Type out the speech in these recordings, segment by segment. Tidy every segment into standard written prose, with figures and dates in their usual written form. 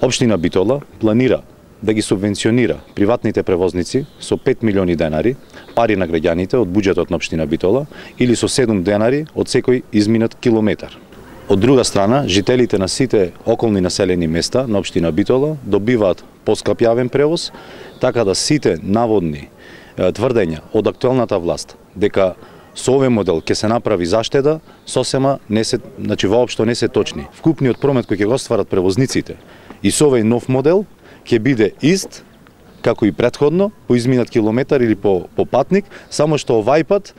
Општина Битола планира да ги субвенционира приватните превозници со 5 милиони денари, пари на граѓаните од буџетот на општина Битола, или со 7 денари од секој изминат километар. Од друга страна, жителите на сите околни населени места на општина Битола добиваат поскап јавен превоз, така да сите наводни тврдења од актуелната власт дека со овој модел ќе се направи заштеда, сосема не се, воопшто не се точни. Вкупниот промет кој ќе го остварат превозниците и со овој нов модел ќе биде ист како и претходно, по изминат километар или по патник, само што овај пат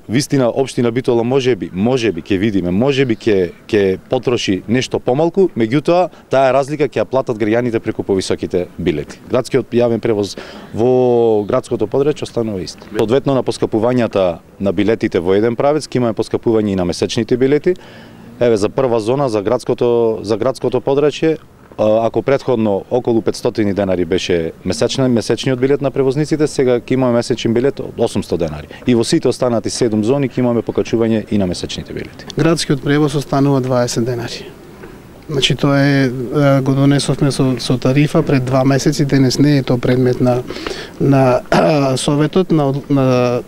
вистина општина Битола можеби ќе видиме, можеби ќе потроши нешто помалку, меѓутоа таа разлика ќе ја платат граѓаните преку повисоките билети. Градскиот јавен превоз во градското подрачје останува ист. Одветно на поскапувањата на билетите во еден правец, ќе имаме поскапување и на месечните билети. Еве за прва зона за градското подрачје, ако претходно околу 500 денари беше месечниот билет на превозниците, сега ќе имаме месечен билет од 800 денари. И во сите останати 7 зони ќе имаме покачување и на месечните билети. Градскиот превоз останува 20 денари. Значи тоа го донесовме со тарифа пред 2 месеци, денес не е тоа предмет на советот, на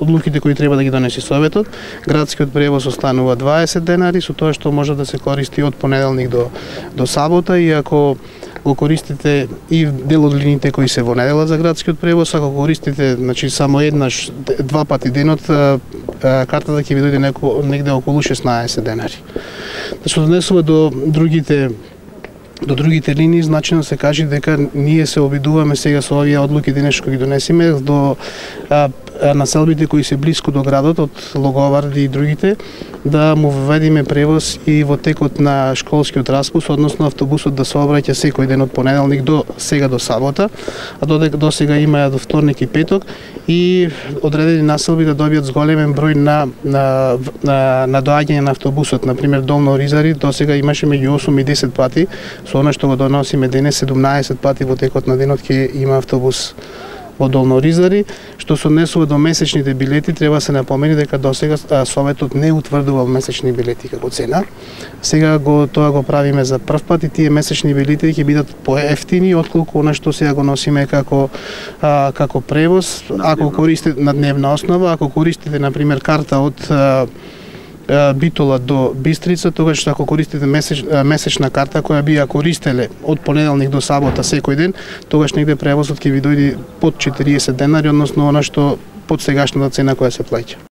одлуките кои треба да ги донесе советот. Градскиот превоз останува 20 денари, со тоа што може да се користи од понеделник до сабота, и ако го користите и дел од линиите кои се во недела за градскиот превоз, ако користите само еднаш, 2 пати денот, картата ќе ви дојде негде околу 16 денари. Што донесува до другите линии, значено се кажи дека ние се обидуваме сега со овие одлуки денес кои ги донесиме до населбите кои се блиску до градот, од Логоварди и другите, да му введиме превоз и во текот на школскиот распуст, односно автобусот да сообраќа секој ден од понеделник до сабота, а до сега има до вторник и петок, и одредени населби да добијат зголемен број на доаѓање на автобусот. Например, Долно Оризари до сега имаше меѓу 8 и 10 пати, со она што го доносиме денес 17 пати во текот на денот ќе има автобус во Долно Оризари. Што се однесува до месечните билети, треба се напомени дека досега советот не утврдувал месечни билети како цена. Сега тоа го правиме за прв пат, и тие месечни билети ќе бидат поевтини отколку она што сега го носиме како превоз. Ако користите на дневна основа, ако користите например карта од Битола до Бистрица, тогаш ако користите месечна карта која би ја користеле од понеделник до сабота секој ден, тогаш негде превозот ќе ви дојде под 40 денари, односно она што под сегашната цена која се плаќа.